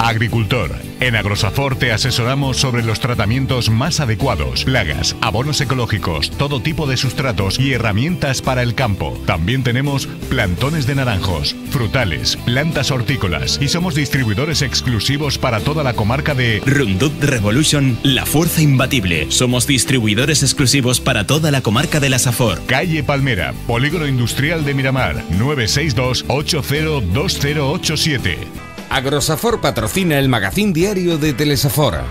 Agricultor. En Agrosafor te asesoramos sobre los tratamientos más adecuados, plagas, abonos ecológicos, todo tipo de sustratos y herramientas para el campo. También tenemos plantones de naranjos, frutales, plantas hortícolas y somos distribuidores exclusivos para toda la comarca de Roundup Revolution, la fuerza imbatible. Somos distribuidores exclusivos para toda la comarca de la Safor. Calle Palmera, Polígono Industrial de Miramar, 962 802087. Agrosafor patrocina el magazín diario de Telesafor.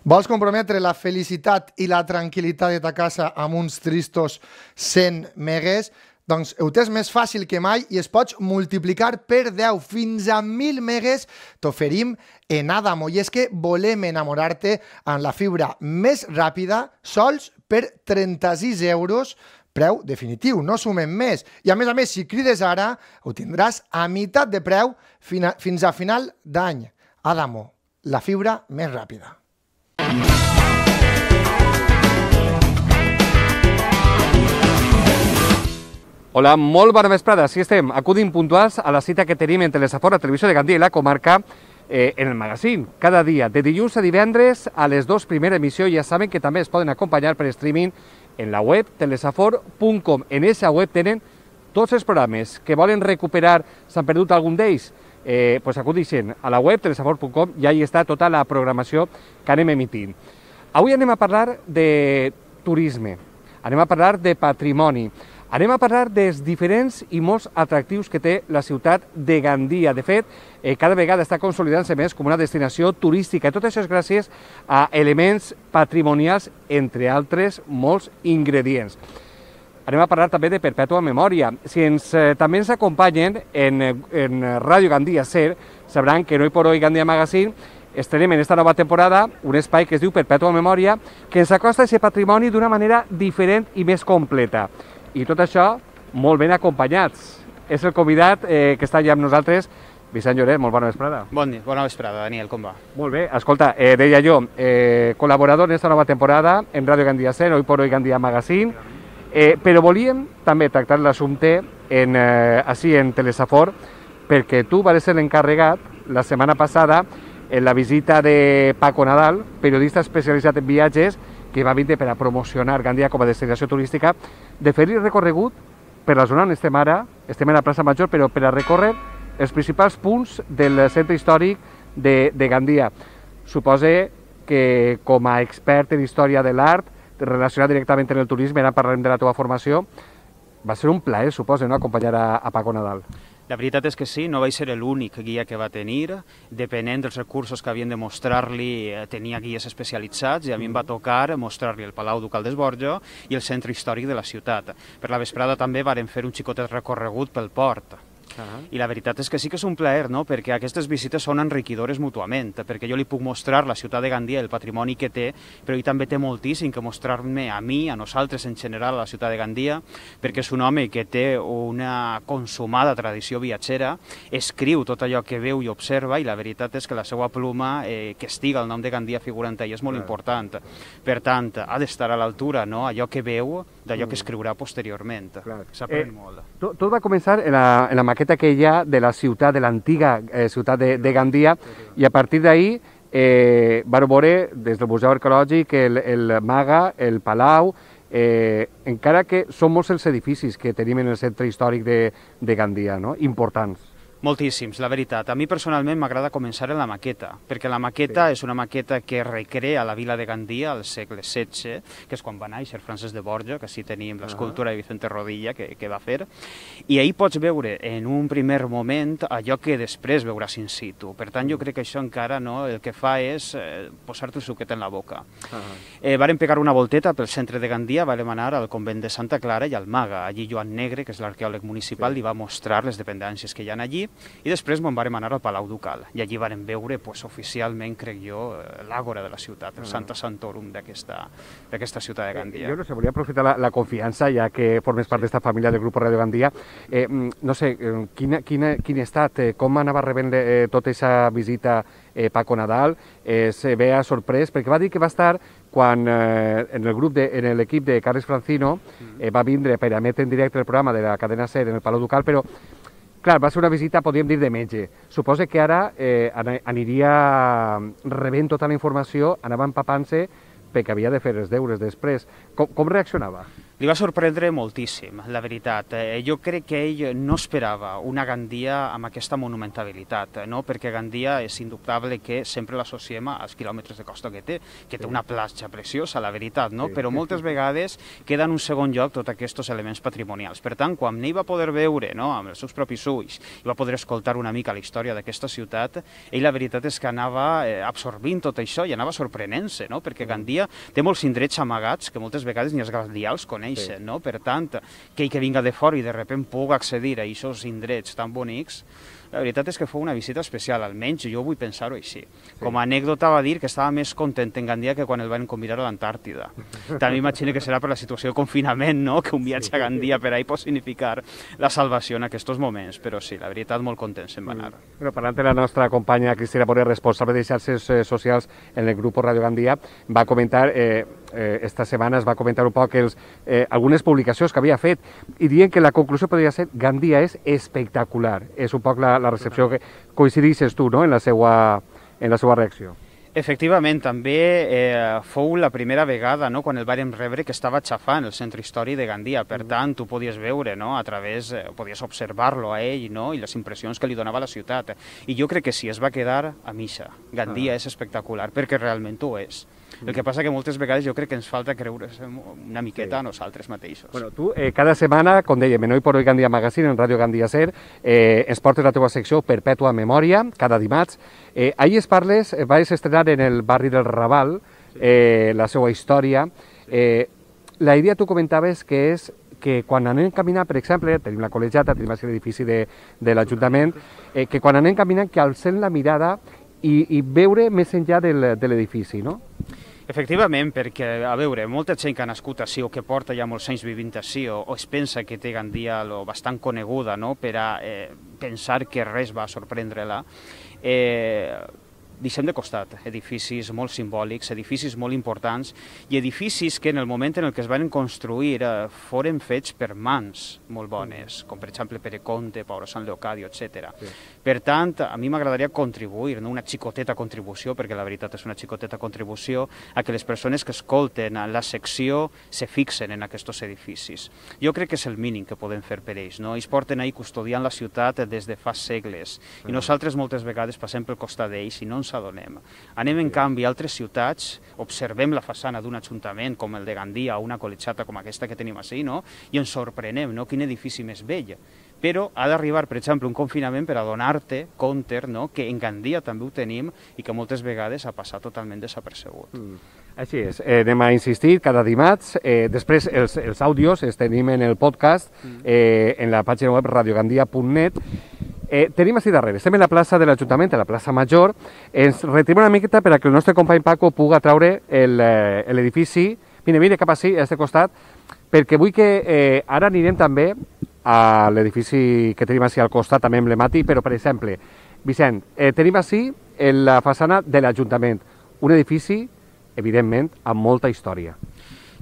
Vols comprometre la felicitat i la tranquil·litat de ta casa amb uns tristos 100 megues? Doncs ho tens més fàcil que mai i es pots multiplicar per 10 fins a 1.000 megues t'oferim en Adamo. I és que volem enamorar-te amb la fibra més ràpida sols per 36 euros, preu definitiu, no sumem més. I a més, si crides ara, ho tindràs a meitat de preu fins a final d'any. Adamo, la fibra més ràpida. Hola, molt bona vesprada. Així estem, acudint puntuals a la cita que tenim en Telesafor, a Televisió de Gandia i la comarca, en el magazín. Cada dia, de dilluns a divendres, a les 2 primera emissió, ja saben que també es poden acompanyar per streaming en la web telesafor.com. En aquesta web tenen tots els programes que volen recuperar, s'han perdut algun d'ells, pues acudixen a la web telesafor.com i ahí està tota la programació que anem emitint. Avui anem a parlar de turisme, anem a parlar de patrimoni, anem a parlar dels diferents i molts atractius que té la ciutat de Gandia. De fet, cada vegada està consolidant-se més com una destinació turística i tot això és gràcies a elements patrimonials, entre altres molts ingredients. Anem a parlar també de perpètua memòria. Si també ens acompanyen en Ràdio Gandia Ser, sabran que Hoy por Hoy Gandia Magazine estrenem en esta nova temporada un espai que es diu Perpètua Memòria, que ens acosta a aquest patrimoni d'una manera diferent i més completa. I tot això molt ben acompanyats. És el convidat que està allà amb nosaltres, Vicent Lloret, molt bona vesprada. Bon dia, bona vesprada, Daniel, com va? Molt bé, escolta, deia jo, col·laborador en esta nova temporada en Ràdio Gandia Ser, Hoy por Hoy Gandia Magazine, però volíem també tractar l'assumpte així en Telesafor, perquè tu vas ser l'encarregat la setmana passada en la visita de Paco Nadal, periodista especialitzat en viatges, que va vindre per a promocionar Gandia com a destinació turística, de fer-hi recorregut per la zona on estem ara, estem a la plaça Major, però per a recórrer els principals punts del centre històric de Gandia. Suposo que com a expert en història de l'art, relacionat directament amb el turisme, ara parlarem de la teva formació, va ser un plaer, suposo, no?, acompanyar a Paco Nadal. La veritat és que sí, no vaig ser l'únic guia que va tenir, depenent dels recursos que havien de mostrar-li, tenia guies especialitzats i a mi em va tocar mostrar-li el Palau Ducal d'Esborjo i el centre històric de la ciutat. Per la vesprada també vàrem fer un xicotet recorregut pel port. I la veritat és que sí que és un plaer, no?, perquè aquestes visites són enriquidores mútuament, perquè jo li puc mostrar la ciutat de Gandia, el patrimoni que té, però ell també té moltíssim que mostrar-me a mi, a nosaltres en general, a la ciutat de Gandia, perquè és un home que té una consumada tradició viatgera, escriu tot allò que veu i observa, i la veritat és que la seva pluma, que estiga el nom de Gandia figurant ell, és molt important. Per tant, ha d'estar a l'altura, no?, allò que veu d'allò que escriurà posteriorment. S'aprèn molt. Tot va començar en la maqueta aquella de la ciutat, de l'antiga ciutat de Gandia, i a partir d'ahir van veure des del Museu Arqueològic el Maga, el Palau, encara que són molts els edificis que tenim en el centre històric de Gandia, no?, importants. Moltíssims, la veritat. A mi personalment m'agrada començar en la maqueta, perquè la maqueta és una maqueta que recrea la vila de Gandia al segle XVI, que és quan va néixer Francesc de Borja, que així tenim l'escultura de Vicente Rodilla que va fer, i ahir pots veure en un primer moment allò que després veuràs in situ. Per tant, jo crec que això encara el que fa és posar-te el suquet en la boca. Vàrem pegar una volteta pel centre de Gandia, vàrem anar al convent de Santa Clara i al Maga. Allí Joan Negre, que és l'arqueòleg municipal, li va mostrar les dependències que hi ha allí, I després me'n vam anar al Palau Ducal, i allí vam veure oficialment, crec jo, l'àgora de la ciutat, el Santa Santorum d'aquesta ciutat de Gandia. Jo no sé, volia aprofitar la confiança, ja que formes part d'esta família del grup Radio Gandia. No sé, quin estat, com anava rebent tota aquesta visita Paco Nadal? Se ve sorprès, perquè va dir que va estar quan en l'equip de Carles Francino va vindre per emetre en directe el programa de la cadena SER en el Palau Ducal, però clar, va ser una visita, podríem dir, de metge. Suposo que ara aniria rebent tota la informació, anava empapant-se perquè havia de fer els deures després. Com reaccionava? Li va sorprendre moltíssim, la veritat. Jo crec que ell no esperava una Gandia amb aquesta monumentalitat, no? Perquè Gandia és indubtable que sempre l'associem als quilòmetres de costa que té una platja preciosa, la veritat, no? Però moltes vegades queda en un segon lloc tots aquests elements patrimonials. Per tant, quan ell va poder veure, no, amb els seus propis ulls, i va poder escoltar una mica la història d'aquesta ciutat, ell la veritat és que anava absorbint tot això i anava sorprenent-se, no? Perquè Gandia té molts indrets amagats que moltes vegades ni els gandials coneixen, no? Per tant, que ell que vinga de fora i de sobte pugui accedir a aquests indrets tan bonics, la veritat és que fou una visita especial, almenys jo vull pensar-ho així. Com a anècdota va dir que estava més content en Gandia que quan el van convidar a l'Antàrtida. També imagino que serà per la situació de confinament, no? Que un viatge a Gandia per ahí pot significar la salvació en aquests moments, però sí, la veritat, molt content se'n va anar. Parlant de la nostra companya Cristina Borrell, responsable de xarxes socials en el grup Radio Gandia, va comentar, esta setmana es va comentar un poc algunes publicacions que havia fet i dient que la conclusió podria ser Gandia és espectacular. És un poc la recepció que coincidixes tu, no?, en la seva reacció. Efectivament, també fou la primera vegada, no?, quan el vàrem rebre, que estava xafant el centre històric de Gandia. Per tant, tu podies veure, no?, a través, podies observar-lo a ell, no?, i les impressions que li donava la ciutat. I jo crec que sí, es va quedar a missa. Gandia és espectacular, perquè realment ho és. El que passa que moltes vegades jo crec que ens falta creure una miqueta a nosaltres mateixos. Bueno, tu cada setmana, com dèiem, en Hoy por Hoy Gandia Magazine, en Ràdio Gandia SER, ens portes la teva secció Perpètua Memòria, cada dimarts. Ahir es parles, vas estrenar en el barri del Raval la seva història. La idea tu comentaves que és que quan anem caminant, per exemple, tenim la col·legiata, tenim l'edifici de l'Ajuntament, que quan anem caminant que alcem la mirada i veure més enllà de l'edifici, no? Efectivament, perquè, a veure, molta gent que ha nascut així o que porta ja molts anys vivint així o es pensa que té Gandia bastant coneguda, no?, per a pensar que res va sorprendre-la, deixem de costat edificis molt simbòlics, edificis molt importants i edificis que en el moment en què es van construir foren fets per mans molt bones, com per exemple Pere Conte, Pau Sant Leocadio, etc. Per tant, a mi m'agradaria contribuir, no una xicoteta contribució, perquè la veritat és una xicoteta contribució, a que les persones que escolten la secció se fixen en aquests edificis. Jo crec que és el mínim que podem fer per ells, no? Ells porten ahí custodiant la ciutat des de fa segles i nosaltres moltes vegades passem pel costat d'ells i no ens adonem. Anem en canvi a altres ciutats, observem la façana d'un ajuntament com el de Gandia o una col·legiata com aquesta que tenim així, no?, i ens sorprenem, no?, quin edifici més vell. Però ha d'arribar, per exemple, un confinament per adonar-te compte, no?, que en Gandia també ho tenim i que moltes vegades ha passat totalment desapercebut. Així és, anem a insistir cada dimarts. Després els àudios els tenim en el podcast, en la pàgina web radiogandia.net. Tenim així darrere, estem en la plaça de l'Ajuntament, a la plaça Major. Ens retirem una miqueta per a que el nostre company Paco pugui traure l'edifici. Vine cap així, a aquest costat, perquè vull que ara anirem també a l'edifici que tenim així al costat, també emblemàtic, però, per exemple, Vicent, tenim així la façana de l'Ajuntament, un edifici, evidentment, amb molta història.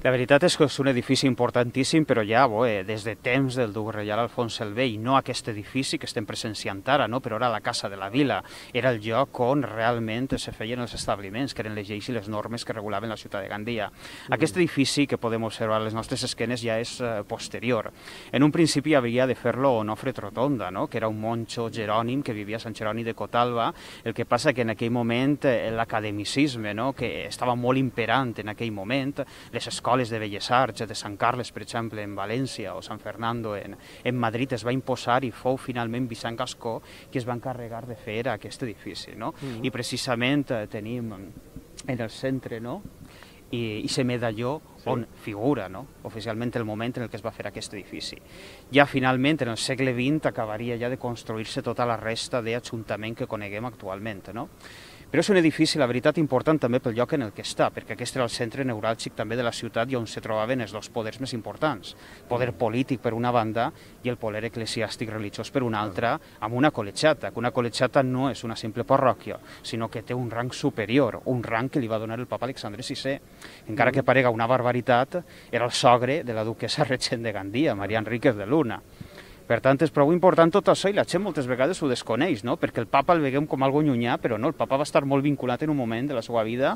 La veritat és que és un edifici importantíssim, però ja des de temps del duc reial Alfons el Vell, no aquest edifici que estem presenciant ara, no? Però era la Casa de la Vila, era el lloc on realment se feien els establiments, que eren les lleis i les normes que regulaven la ciutat de Gandia. Aquest edifici, que podem observar a les nostres esquenes, ja és posterior. En un principi havia de fer-lo Onofre Trotonda, no?, que era un monjo jerònim que vivia a Sant Jeroni de Cotalba. El que passa que en aquell moment l'academicisme, no?, que estava molt imperant en aquell moment, les escoles de Belles Arts, de Sant Carles, per exemple, en València, o Sant Fernando en Madrid, es va imposar i fou finalment Vicent Gascó qui es va encarregar de fer aquest edifici, no? I precisament tenim en el centre, no?, i se medalló on figura, no? Oficialment el moment en el que es va fer aquest edifici. Ja finalment, en el segle XX, acabaria ja de construir-se tota la resta d'ajuntament que coneguem actualment, no? Però és un edifici, la veritat, important també pel lloc en el que està, perquè aquest era el centre neuràlgic també de la ciutat i on se trobaven els dos poders més importants. El poder polític per una banda i el poder eclesiàstic religiós per una altra, amb una col·legiata, que una col·legiata no és una simple parròquia, sinó que té un rang superior, un rang que li va donar el papa Alexandre VI. Encara que parega una barbaritat, era el sogre de la duquessa regent de Gandia, Maria Enríquez de Luna. Per tant, és prou important tot això i la gent moltes vegades ho desconeix, no? Perquè el papa el veiem com algo llunyà, però no, el papa va estar molt vinculat en un moment de la seva vida,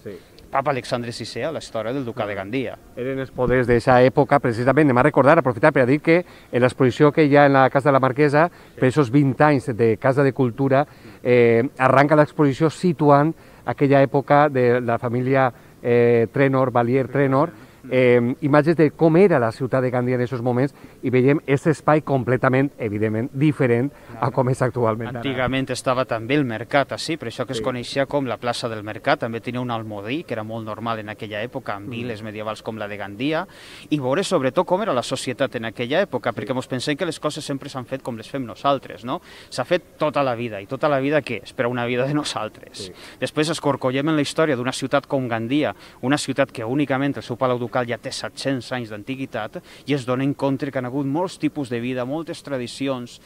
papa Alexandre VI, a la història del ducat de Gandia. Eren els poders d'aquesta època, precisament, anem a recordar, aprofitar per a dir que en l'exposició que hi ha en la Casa de la Marquesa, per aquests 20 anys de Casa de Cultura, arranca l'exposició situant aquella època de la família Trenor, Valier Trenor, imatges de com era la ciutat de Gandia en aquests moments i veiem aquest espai completament, evidentment, diferent a com és actualment. Antigament estava també el mercat així, per això que es coneixia com la plaça del mercat, també tenia un almodí, que era molt normal en aquella època, amb viles medievals com la de Gandia, i veure sobretot com era la societat en aquella època, perquè ens pensem que les coses sempre s'han fet com les fem nosaltres, no? S'ha fet tota la vida, i tota la vida què és? Per a una vida de nosaltres. Després escorcollem en la història d'una ciutat com Gandia, una ciutat que únicament el seu palau ducal ja té 700 anys d'antiguitat i es dona en compte que han hagut molts tipus de vida, moltes tradicions,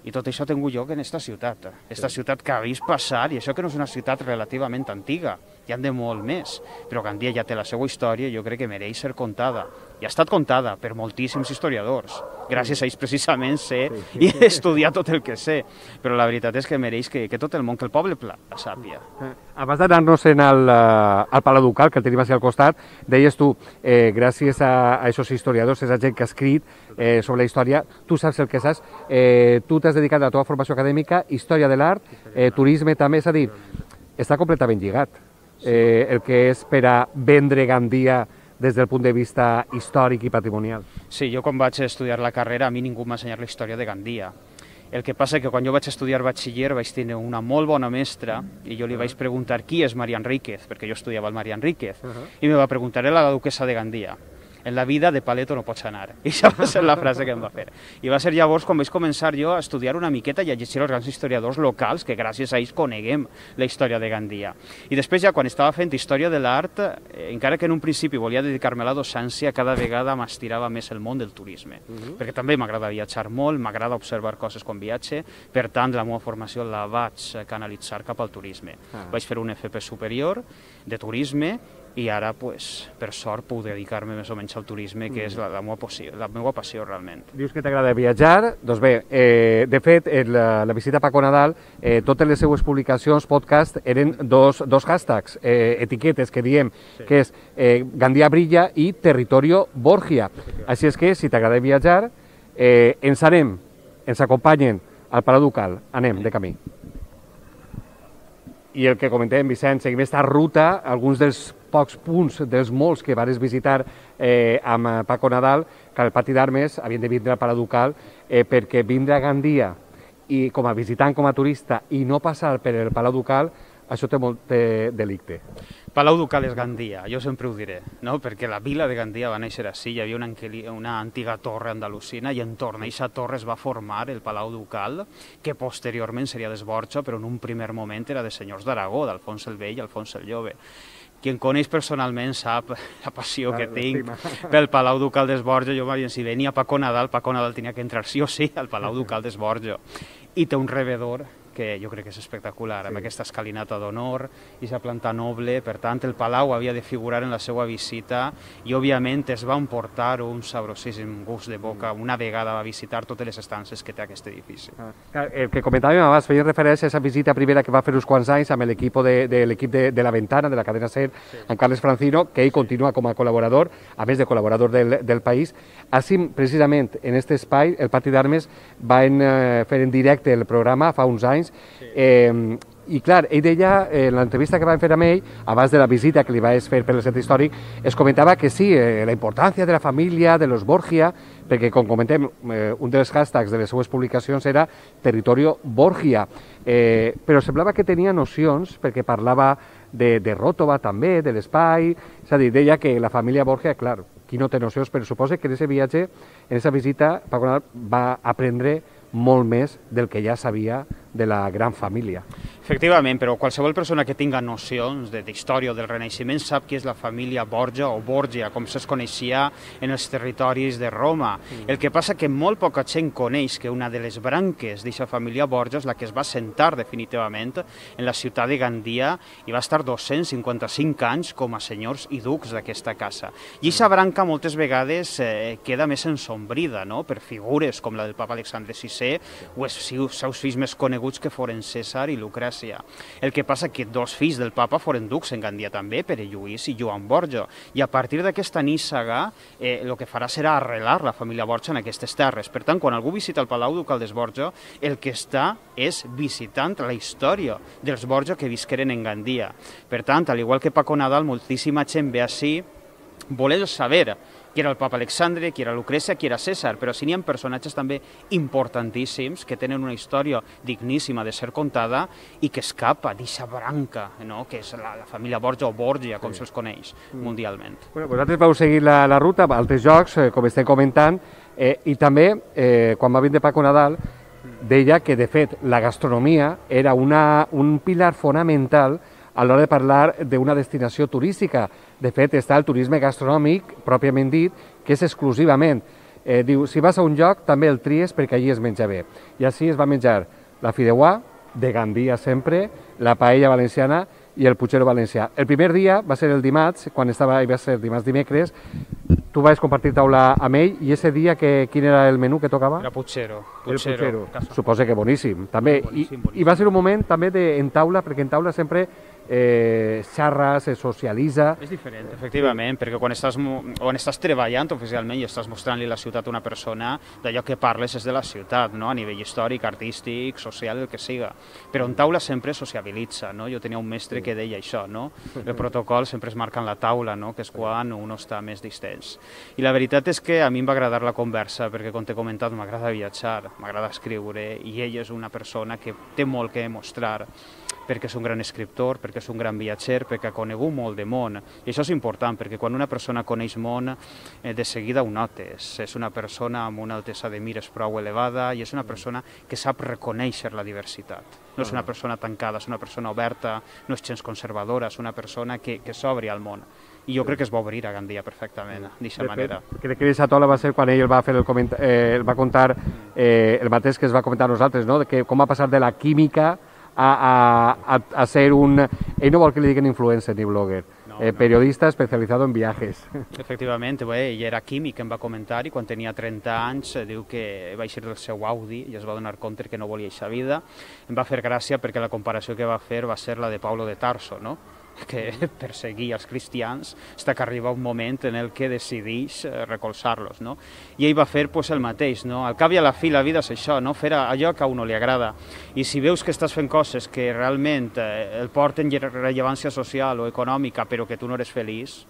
i tot això ha tingut lloc en aquesta ciutat. Aquesta ciutat que ha vist passar, i això que no és una ciutat relativament antiga, hi han de molt més, però Gandia ja té la seva història i jo crec que mereix ser contada. I ha estat contada per moltíssims historiadors. Gràcies a ells precisament sé i he estudiat tot el que sé, però la veritat és que mereix que tot el món, que el poble pla, la sàpia. Abans d'anar-nos al Palau Ducal, que el tenim al costat, deies tu, gràcies a aquests historiadors, a aquesta gent que ha escrit sobre la història, tu saps el que saps, tu t'has dedicat a la teva formació acadèmica, història de l'art, turisme també, és a dir, està completament lligat. El que és per a vendre Gandia des del punt de vista històric i patrimonial. Sí, jo quan vaig estudiar la carrera a mi ningú m'ha ensenyat la història de Gandia. El que passa és que quan jo vaig estudiar batxiller vaig tenir una molt bona mestra i jo li vaig preguntar qui és Maria Enríquez, perquè jo estudiava el Maria Enríquez, i me va preguntar, era la duquessa de Gandia. En la vida de paleto no pots anar. I això va ser la frase que em va fer. I va ser llavors quan vaig començar jo a estudiar una miqueta i a llegir els grans historiadors locals, que gràcies a ells coneguem la història de Gandia. I després ja quan estava fent història de l'art, encara que en un principi volia dedicar-me a la docència, cada vegada m'estirava més el món del turisme. Perquè també m'agrada viatjar molt, m'agrada observar coses quan viatge, per tant la meva formació la vaig canalitzar cap al turisme. Vaig fer un FP superior de turisme i ara, per sort, puc dedicar-me més o menys al turisme, que és la meva passió realment. Dius que t'agrada viatjar, doncs bé, de fet, la visita a Paco Nadal, totes les seues publicacions, podcast, eren dos hashtags, etiquetes que diem, que és Gandia Brilla i Territorio Borgia. Així és que, si t'agrada viatjar, ens acompanyen al Palau Ducal, anem de camí. I el que comentem, Vicent, seguim aquesta ruta, alguns dels pocs punts, dels molts que vas visitar amb Paco Nadal, que al Pati d'Armes havien de vindre al Palau Ducal, perquè vindre a Gandia i com a visitant, com a turista, i no passar per el Palau Ducal, això té molt delicte. Palau Ducal és Gandia, jo sempre ho diré, no? Perquè la vila de Gandia va néixer així, hi havia una antiga torre andalusina i entorn a aquesta torre es va formar el Palau Ducal, que posteriorment seria d'Esborja, però en un primer moment era de senyors d'Aragó, d'Alfons el Vell i Alfons el Jove. Qui em coneix personalment sap la passió que tinc pel Palau Ducal d'Esborja. Jo, si venia Paco Nadal tenia que entrar sí o sí al Palau Ducal d'Esborja. I té un rebedor que jo crec que és espectacular, amb aquesta escalinata d'honor, aquesta planta noble. Per tant, el Palau havia de figurar en la seva visita i, òbviament, es va emportar un sabrosíssim gust de boca una vegada va visitar totes les estances que té aquest edifici. El que comentàvem abans, feia referència a aquesta visita primera que va fer uns quants anys amb l'equip de La Ventana, de la cadena SER, amb Carles Francino, que ell continua com a col·laborador, a més de col·laborador del País. Així, precisament, en aquest espai, el Pati d'Armes van fer en directe el programa fa uns anys. I clar, ell deia, en l'entrevista que vam fer amb ell, abans de la visita que li vaig fer per el centre històric, es comentava que sí, la importància de la família, de los Borgia, perquè, com comentem, un dels hashtags de les seues publicacions era Territorio Borgia, però semblava que tenia nocions, perquè parlava de Ròtova també, de l'espai, és a dir, deia que la família Borgia, clar, qui no té nocions, però suposa que en aquest viatge, en aquesta visita, Paco Nadal va aprendre molt més del que ja sabia de la gran família. Efectivament, però qualsevol persona que tinga nocions d'història o del Renaixement sap que és la família Borgia o Borgia, com es coneixia en els territoris de Roma. El que passa que molt poca gent coneix que una de les branques d'aquesta família Borgia és la que es va assentar definitivament en la ciutat de Gandia i va estar 255 anys com a senyors i ducs d'aquesta casa. I aquesta branca moltes vegades queda més ensombrida, no?, per figures com la del papa Alexandre VI o els seus fills més coneguts que foren Cèsar i Lucrècia. El que passa que dos fills del papa foren ducs en Gandia també, Pere Lluís i Joan Borja, i a partir d'aquesta níssaga el que farà serà arrelar la família Borja en aquestes terres. Per tant, quan algú visita el Palau Ducal dels Borja, el que està és visitant la història dels Borja que visqueren en Gandia. Per tant, al igual que Paco Nadal, moltíssima gent ve ací volent saber qui era el papa Alexandre, qui era Lucrècia, qui era Cèsar, però sí n'hi ha personatges també importantíssims que tenen una història digníssima de ser contada i que escapa d'aquesta branca, no?, que és la família Borja o Borgia, com se'ls coneix mundialment. Bueno, vosaltres vau seguir la ruta a altres jocs, com estem comentant, i també, quan va vindre Paco Nadal, deia que, de fet, la gastronomia era un pilar fonamental a l'hora de parlar d'una destinació turística. De fet, està el turisme gastronòmic, pròpiament dit, que és exclusivament. Diu, si vas a un lloc, també el tries perquè allí es menja bé. I així es va menjar la fideuà, de Gandia sempre, la paella valenciana i el puchero valencià. El primer dia va ser el dimarts, quan va ser dimecres, tu vas compartir taula amb ell, i ese dia quin era el menú que tocava? Era puchero. El puchero. Suposa que boníssim, també. I va ser un moment també en taula, perquè en taula sempre xarra, se socialitza. És diferent, efectivament, perquè quan estàs treballant oficialment i estàs mostrant-li la ciutat a una persona, d'allò que parles és de la ciutat, no?, a nivell històric, artístic, social, el que siga. Però en taula sempre sociabilitza, no? Jo tenia un mestre que deia això, no? El protocol sempre es marca en la taula, no?, que és quan un està més distens. I la veritat és que a mi em va agradar la conversa, perquè, com t'he comentat, m'agrada viatjar, m'agrada escriure, i ell és una persona que té molt que mostrar, perquè és un gran escriptor, perquè és un gran viatger, perquè ha conegut molt de món. I això és important, perquè quan una persona coneix món, de seguida ho notes. És una persona amb una altesa de mires prou elevada i és una persona que sap reconèixer la diversitat. No és una persona tancada, és una persona oberta, no és gens conservadora, és una persona que s'obri al món. I jo crec que es va obrir a Gandia perfectament, d'aquesta manera. Crec que aquesta taula va ser quan ell va fer va contar el mateix que es va comentar a nosaltres, no?, que com va passar de la química a ser un... Ell no vol que li diguin influencer ni blogger, periodista especializado en viajes. Efectivament, ell era químic, em va comentar, i quan tenia 30 anys diu que va eixir del seu Audi i es va donar compte que no volia aquesta vida. Em va fer gràcia perquè la comparació que va fer va ser la de Paulo de Tarso, no?, que perseguia els cristians, fins que arriba un moment en el que decideix recolzar-los, no? I ell va fer el mateix, no? Al cap i a la fi la vida és això, no?, fer allò que a uno li agrada. I si veus que estàs fent coses que realment el porten rellevància social o econòmica, però que tu no eres feliç,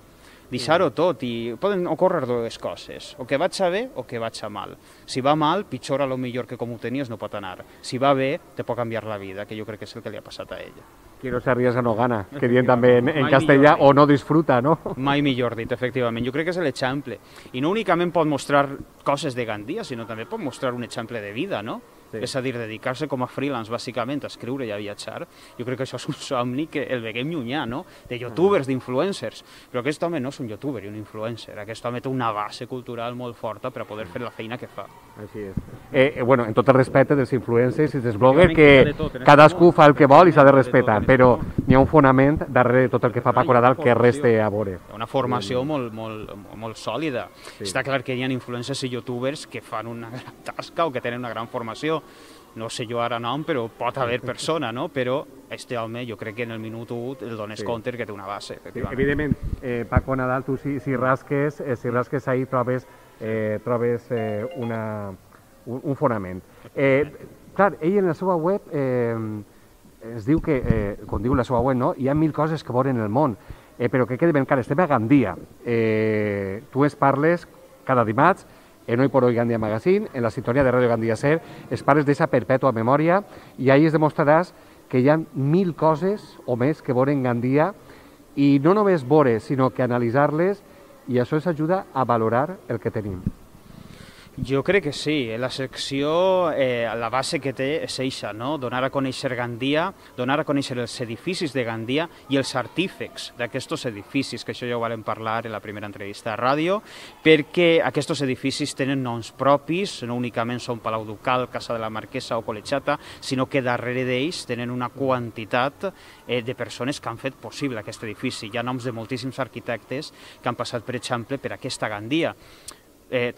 deixar-ho tot, i poden ocórrer dues coses, o que vaig a bé o que vaig a mal. Si va mal, pitjor a lo millor que com ho tenies no pot anar. Si va bé, te pot canviar la vida, que jo crec que és el que li ha passat a ella. Qui no se arriesga no gana, que dient també en castellà, o no disfruta, no? Mai millor dit, efectivament. Jo crec que és l'exemple. I no únicament pot mostrar coses de Gandia, sinó també pot mostrar un exemple de vida, no? Sí. És a dir, dedicar-se com a freelance, bàsicament, a escriure i a viatjar. Jo crec que això és un somni que el veiem llunyà, no?, de youtubers, d'influencers. Però aquest home no és un youtuber i un influencer. Aquest home té una base cultural molt forta per a poder fer la feina que fa. Així és. Bueno, en tot el respecte dels influencers i dels bloggers, que cadascú fa el que vol i s'ha de respetar, però n'hi ha un fonament darrere de tot el que fa Paco Nadal que reste a veure. Una formació molt sòlida. Està clar que hi ha influencers i youtubers que fan una gran tasca o que tenen una gran formació. No sé jo ara nom, però pot haver persona, no? Però este home, jo crec que en el minut 1 el dones compte que té una base, efectivament. Evidentment, Paco Nadal, tu si rasques ahí trobes un fonament. Clar, ell en la seva web es diu que, com diu la seva web, no?, hi ha 1000 coses que veure en el món, però que quedi ben clar, estem a Gandia. Tu es parles cada dimarts, en Hoy por Hoy Gandia Magazine, en la sintonía de Radio Gandia Ser, es pares d'esa perpètua memòria, i ahí es demostraràs que hi ha 1000 coses o més que veure en Gandia, i no només veure, sinó que analitzar-les, i això ens ajuda a valorar el que tenim. Jo crec que sí. La secció, la base que té és eixa, no? Donar a conèixer Gandia, donar a conèixer els edificis de Gandia i els artífecs d'aquests edificis, que això ja ho vam parlar en la primera entrevista a ràdio, perquè aquests edificis tenen noms propis, no únicament són Palau Ducal, Casa de la Marquesa o Col·legiata, sinó que darrere d'ells tenen una quantitat de persones que han fet possible aquest edifici. Hi ha noms de moltíssims arquitectes que han passat, per exemple, per aquesta Gandia.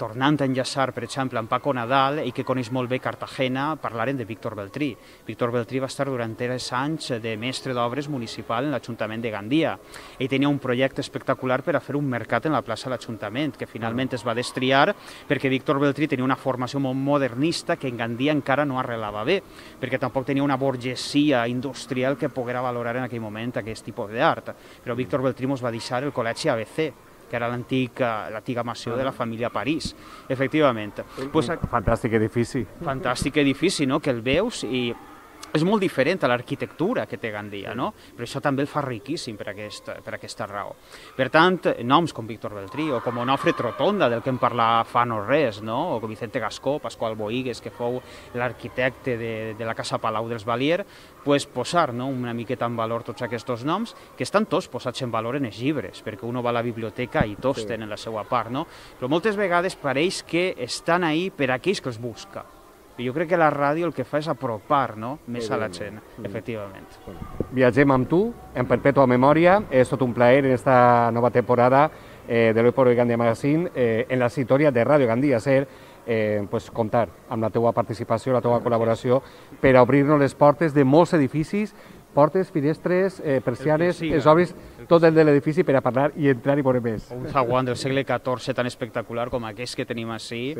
Tornant a enllaçar, per exemple, amb Paco Nadal, i que coneix molt bé Cartagena, parlaren de Víctor Beltrí. Víctor Beltrí va estar durant 3 anys de mestre d'obres municipal en l'Ajuntament de Gandia. Ell tenia un projecte espectacular per a fer un mercat en la plaça de l'Ajuntament, que finalment es va destriar perquè Víctor Beltrí tenia una formació molt modernista que en Gandia encara no arrelava bé, perquè tampoc tenia una burgesia industrial que poguera valorar en aquell moment aquest tipus d'art. Però Víctor Beltrí mos va deixar el Col·legi ABC, que era l'antiga mansió de la família París, efectivament. Fantàstic edifici. Fantàstic edifici, no?, que el veus i és molt diferent a l'arquitectura que té Gandia, no? Però això també el fa riquíssim per aquesta raó. Per tant, noms com Víctor Beltrí o com Onofre Trotonda, del que em parla fa no res, no? O com Vicente Gascó, Pasqual Boigues, que fou l'arquitecte de la Casa Palau dels Valier, posar una miqueta en valor tots aquests noms, que estan tots posats en valor en els llibres, perquè un va a la biblioteca i tots tenen la seva part, no? Però moltes vegades pareix que estan ahí per a aquells que els busca. Jo crec que la ràdio el que fa és apropar més a la gent, efectivament. Viatgem amb tu, en perpètua memòria. És tot un plaer en esta nova temporada de l'Hoy por Hoy Gandia Magazine, en la sintonia de Radio Gandia Ser, comptar amb la teua participació, la teua col·laboració, per a obrir-nos les portes de molts edificis, portes, finestres, persianes, es obris tot el de l'edifici per a parlar i entrar i veure més. Un zaguán del segle XIV tan espectacular com aquest que tenim ací,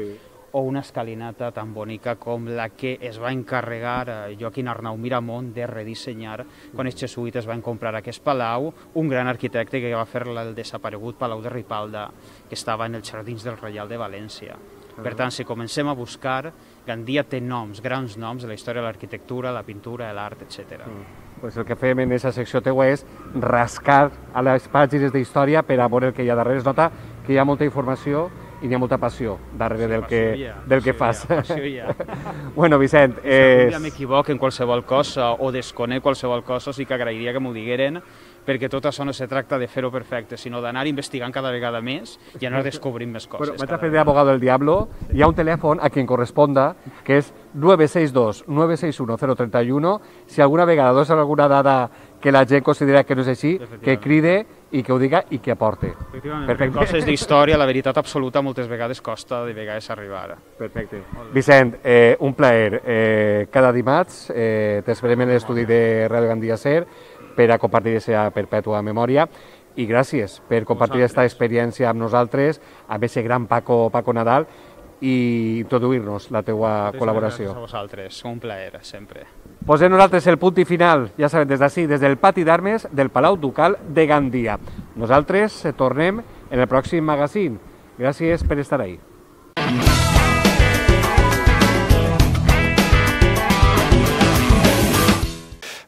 o una escalinata tan bonica com la que es va encarregar Joaquín Arnau Miramont de redissenyar quan els jesuïtes van comprar aquest palau, un gran arquitecte que va fer el desaparegut Palau de Ripalda, que estava en els jardins del Reial de València. Per tant, si comencem a buscar, Gandia té noms, grans noms de la història de l'arquitectura, la pintura, l'art, etc. El que fem en aquesta secció teua és rascar a les pàgines d'història per a veure el que hi ha darrere. Es nota que hi ha molta informació i n'hi ha molta passió darrere del que fas. Bueno, Vicent... Si algun dia m'equivoco en qualsevol cosa o desconec qualsevol cosa, sí que agrairia que m'ho digueren, perquè tot això no se tracta de fer-ho perfecte, sinó d'anar investigant cada vegada més i anar descobrint més coses. Vaig a fer d'abogado del diablo. Hi ha un telèfon a qui corresponda, que és 962-961-031. Si alguna vegada dos alguna dada que la gent considera que no és així, que cride i que ho diga i que aporte. Efectivament, coses d'història, la veritat absoluta moltes vegades costa de vegades arribar. Perfecte. Vicent, un plaer. Cada dimarts t'esperem en l'estudi de Radio Gandia Ser per a compartir aquesta perpètua memòria i gràcies per compartir aquesta experiència amb nosaltres, amb aquest gran Paco Nadal i introduir-nos la teua col·laboració. Gràcies a vosaltres, un plaer, sempre. Posem nosaltres el punt i final, ja sabem, des d'ací, des del pati d'armes del Palau Ducal de Gandia. Nosaltres tornem en el pròxim magazine. Gràcies per estar ahí.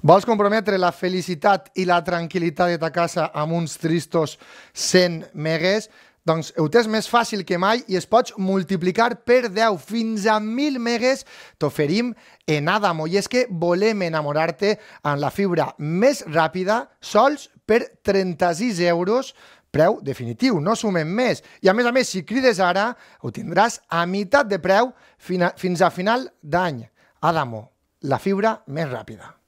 Vols comprometre la felicitat i la tranquil·litat de ta casa amb uns tristos 100 megues? Doncs ho tens més fàcil que mai i es pots multiplicar per 10 fins a 1.000 megues t'oferim en Adamo. I és que volem enamorar-te amb la fibra més ràpida sols per 36 euros, preu definitiu, no sumem més. I a més, si crides ara, ho tindràs a meitat de preu fins a final d'any. Adamo, la fibra més ràpida.